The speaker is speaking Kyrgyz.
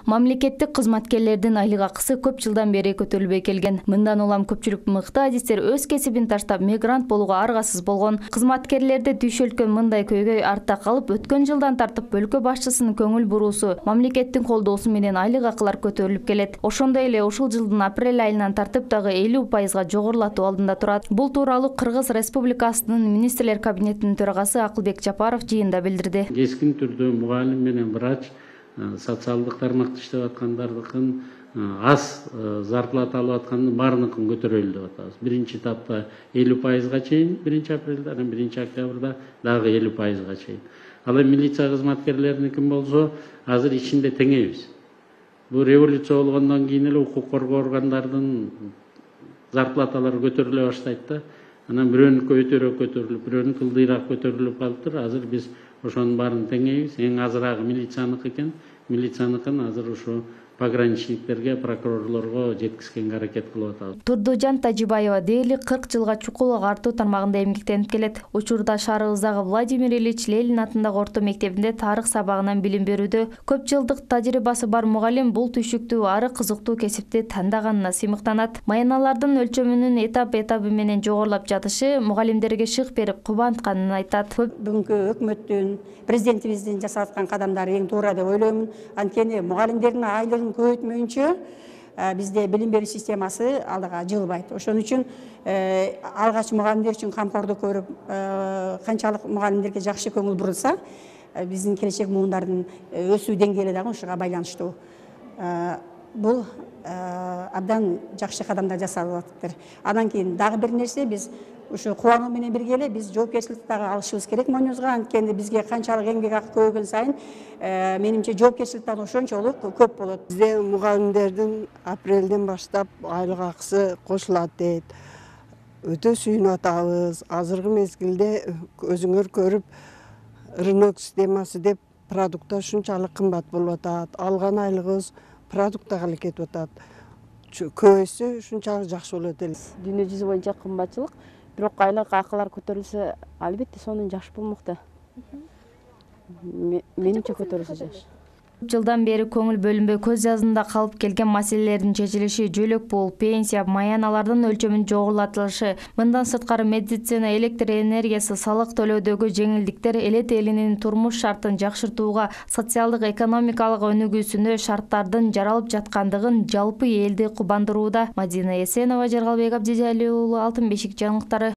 Мамлекеттик кызматкерлердин айлык акысы көп жылдан бери көтөрүлбөй келген. Мындан улам көпчүлүк мыкты адистер өз кесибин таштап мигрант болууга аргасыз болгон. Кызматкерлерди түйшөлткөн мындай көйгөй артта калып, өткөн жылдан тартып өлкө башчысынын көңүл буруусу, мамлекеттин колдоосу менен айлык акылар көтөрүлүп келет. Ошондой эле ушул жылдын апрель айынан тартып дагы 50% жогорулатуу алдында турат. Бул тууралуу Кыргыз Республикасынын министрлер кабинетинин төрагасы Акылбек Жапаров жыйында билдирди. Кескин түрдө мугалим менен врач социалдык тармакта иштеп аткандардыкын аз зарплата алып аткандын баарыныкын көтөрөлү деп атабыз. Биринчи этапта 50%га чейин 1-апрелде, анан 1-октябрда дагы 50%га чейин. Ал эми милиция кызматкерлеринин болсо азыр ичинде теңейбиз. Бул революция болгондон кийин эле укук коргоо органдардын зарплаталары көтөрүлө баштайт да. Анан бирөөнүкү өтөрөөк көтөрүлүп, бирөөнүкү ылдыйраак көтөрүлүп калыптыр. Азыр биз ошонун баарын теңейбиз. Эң азыраагы милицияныкы экен. Милицияныкын азыр ушу пограничниктерге, прокурорлорго жеткизгенге аракет кылып атабыз. Турдужан Тажибаева дээрлик 40 жылга чукул агартуу тармагында эмгектенип келет. Учурда шаарыбыздагы Владимир Ильич Ленин атындагы орто мектебинде тарых сабагынан билим берүүдө. Көп жылдык тажрыйбасы бар мугалим бул түйшүктүү ары кызыктуу кесипти тандаганына сыймыктанат. Маяналардын өлчөмүнүн этап менен жогорулап жатышы мугалимдерге шык берип кубантканын айтат. Бүгүнкү өкмөттүн, президентибиздин жасап аткан кадамдары эң туура деп ойлоймун. Анткени мугалимдердин айлыгын көбөйтмөйүнчө бизде билим берүү системасы алдыга жылбайт. Ошон үчүн алгач мугалимдер үчүн камкордук көрүп, канчалык мугалимдерге жакшы көңүл бурулса, биздин келечек муундардын өсүү деңгээли дагы ушуга байланыштуу. Бул абдан жакшы кадамдар жасалып атыптыр. Андан кийин дагы бир нерсе, биз ушу кубануу менен бирге эле биз жоопкерчиликти дагы алышыбыз керек мойнубузга. Анткени бизге канчалык эмгек акы көбөйгөн сайын менимче жоопкерчилик дагы ошончолук көп болот. Бизде мугалимдердин апрелден баштап айлык акысы кошулат дейт. Өтө сүйүнүп атабыз. Азыркы мезгилде өзүңөр көрүп, рынок системасы деп продукттар ушунчалык кымбат болуп атат. Алган айлыгыбыз продуктага эле кетип атат. Көбөйсө ушунчалык жакшы болот эле. Дүйнө жүзү боюнча кымбатчылык, бирок айлык акылар көтөрүлсө, албетте сонун жакшы болмокта. Менимче көтөрүлсө жакшы. Жылдан бери көңүл бөлүнбөй көз жазында калып келген маселелердин чечилиши, жөлөк пул, пенсия, маяналардын өлчөмүнүн жогорулатылышы, мындан сырткары медицина, электр энергиясы, салык төлөөдөгү жеңилдиктер элет элинин турмуш шартын жакшыртууга, социалдык экономикалык өнүгүүсүнө шарттардын жаралып жаткандыгын жалпы элди кубандырууда. Мадина Эсенова, Жаргалбек Абдижалил уулу, Алтын бешик жаңылыктары.